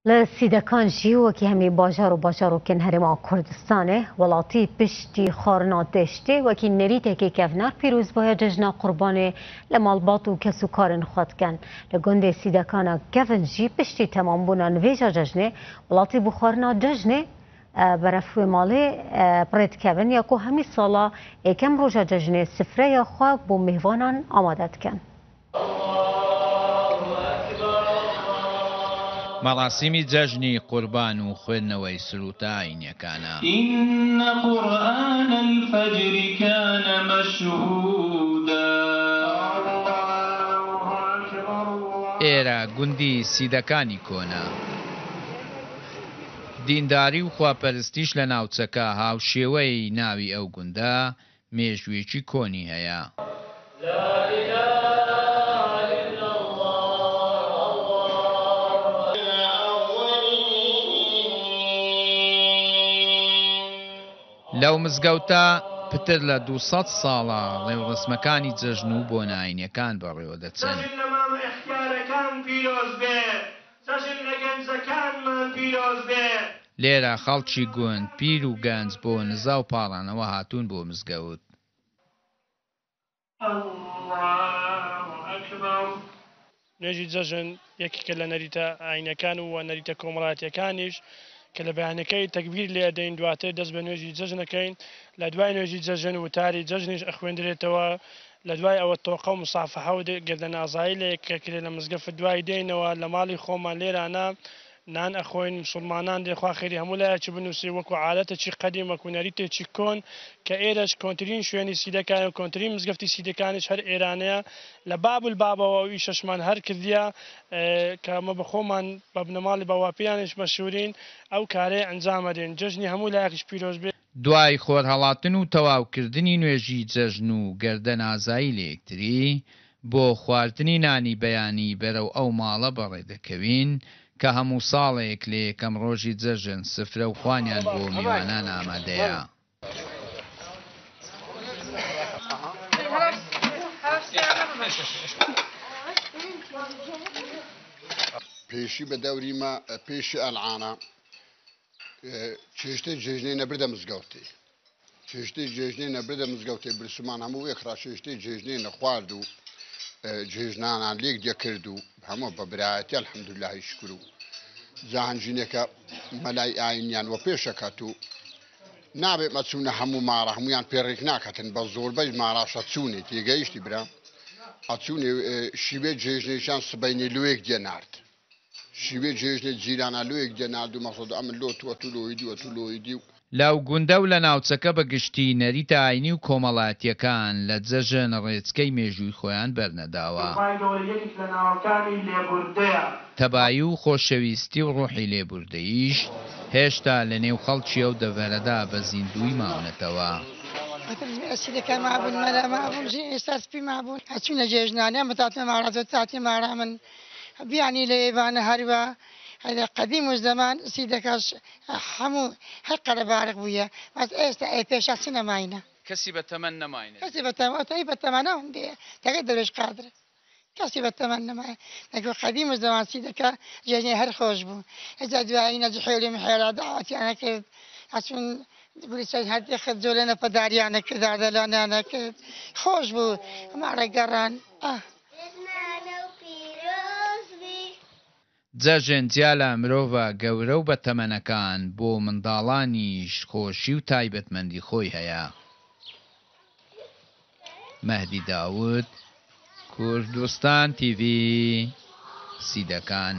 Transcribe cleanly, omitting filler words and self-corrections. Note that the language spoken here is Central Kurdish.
Li Sîdekan jî wekî hemî bajar û bajarokên Herêma Kurdistanê, welatî piştî xwarina têştê wekî nerîtekê kevnar pîrozbaya Cejna Qurbanê li malbat û kesûkarên xwe dikin. Li gundê Sîdekan a kevn jî piştî temambûna nivêja cejnê, welatî bi xwarina cejnê berev wê malê bi rê dikevin ya ku hemî sala yekem roja cejnê sifreya xwe bo mêvanan amade dikin. مەراسیمی جەژنی قوربان و خوێندنەوەی سرووتە ئایینیەکانە. ان قرآن الفجر کان مشهودا. ئێرە گوندی سیدەکانی کۆنە. دینداری و خواپەرستیش لە ناوچەکە هاوشێوەی ناوی ئەو گوندە مێژوویەکی کۆنی هەیە. لەو مزگەوتە پتر لە 200 ساڵە ڕێوڕەسمەکانی جەژن و بۆنە ئاینیەکان بەڕێوەدەچن. جەژن لە مامە ئیختیارەکان پیرۆز بێ. جەژن لە گەنجەکانمان پیرۆز بێ. لێرە خەڵکی گوند پیر و گەنج بۆ نزا و پاڕانەوە هاتوون بۆ مزگەوت. نوێژی جەژن یەکێکە لە نەریتە ئاینیەکان و نەریتە کۆمەڵایەتیەکانیش کە لە بەیانەکەی تەکبیر لێ ئەدەین دواتر دەست بە نوێژی جەژن ئەکەین لە دوای نوێژی جەژن وتاری جەژنیش ئەخوێندرێتەوە لە دوای ئەوە تۆقە و مسافەحە و گردەنازایی لە یەک ئەکرێ لە مزگەفت دوای دێینەوە لە ماڵی خۆمان لێرانە نان ئەخۆین مسوڵمانان دێ خوا خێری هەموو لایەکی بنوسی وەکو عادەتەکی قەدیم وەکو نەریتێکی کۆن کە ئێرەش کۆنترین شوێنی سیدەکانە و کۆنترین مزگەفتی سیدەکانیش هەر ئێرانەیە لە باب البابەوە ئەو ئیشەشمان هەر کردیە کە ئەمە بە خۆمان بە بنەماڵی باواپیرانیش مەشهورین ئەو کارەیە ئەنجام ئەدەین جەژنی هەموو لایەکیش پیرۆز بێ. دوای خۆرهەڵاتن و تەواوکردنی نوێژی جەژن و گەردەنازایی لە یەکتری، بۆ خواردنی نانی بەیانی بەرەو ئەو ماڵە بەڕێدەکەوین کە هەموو ساڵێک لە یەکەم ڕۆژی جەژن سفرە و خوانیان بۆ میوانان ئامادەیە. پێشی بە دەوری مە پێشی ئەلعانە چێشتەی جێژنەی نەبردە مزگەوتێ چێشتەی جێژنەی نەبردە مزگەوتێ برسمان هەموو وێکڕا چێشتەی جێژنەی نەخوارد و جێژنانان لێک دەکرد و هەموو بە برایەتی الحمدللهی شکر و جاهنجینێکە مەلای ئاینیان وە پێشەکەت و نابێت مەچوونە هەموو ماڕە هەمویان پێڕێک ناکەتن بە زۆربەی ماڕاشە چوونێ تێگەیشتی برا ئەچوونێ شیوێ جێژنێکیان سبەینێ لوێک دێنارد شیوێ جێژنێ جیرانا لۆیەک دێ نارد و مەقسەد ئەمن لۆ تو ئەتو لۆی دی و ئەتو لۆی دی و. لەو گوندە و لە ناوچەکە بە گشتی نەریتە ئاینی و کۆمەڵایەتییەکان لە جەژن ڕێچکەی مێژووی خۆیان بەرنەداوە. خوای گەورە یەکێک لە ناوەکانی لێبوردەیە. تەبایی و خۆشەویستی و ڕۆحی لێبوردەییش هێشتا لە نێو خەڵکی ئەو دەڤەرەدا بە زیندووی ماونەتەوە. ئیتر ئەسیرەکان مابوون، مەلا مابوون، ژنی ئێستا سپی مابوون، ئەچوونە جێژنانیان بە تاتێ مارا، تاتێ مارا من بیانی لە یەڤانە هەروا لە قەدیم و زەمان سیدەکەش هەموو هەر قەرەباڵغ بوویە بەس ئێستا ئەی پێشا چ نەماینە. کەسی بە تەمەن نەماینە. کەسی بە تەمەن ئەی بە تەمەنە هەندێ تەکە دەروێش قادر کەسی بە تەمەن نەمایە نەکو قەدیم و زەمان سیدەکە جێژنی هەر خۆش بوو ئەجا دوایی نە جحێلی محێلا داوەتیانە کرد ئەچوون گوریسەی هەردێ خرد جۆلێنە پەداریانە کرد ئاردەلانیانە کرد خۆش بوو ماڵە گەڕان ئاه. جەژن جیا لە مرۆڤە گەورە و بەتەمەنەکان، بۆ منداڵانیش خۆشی و تایبەتمەندی خۆی هەیە. مەهدی داود، کوردستان تیڤی، سیدەکان.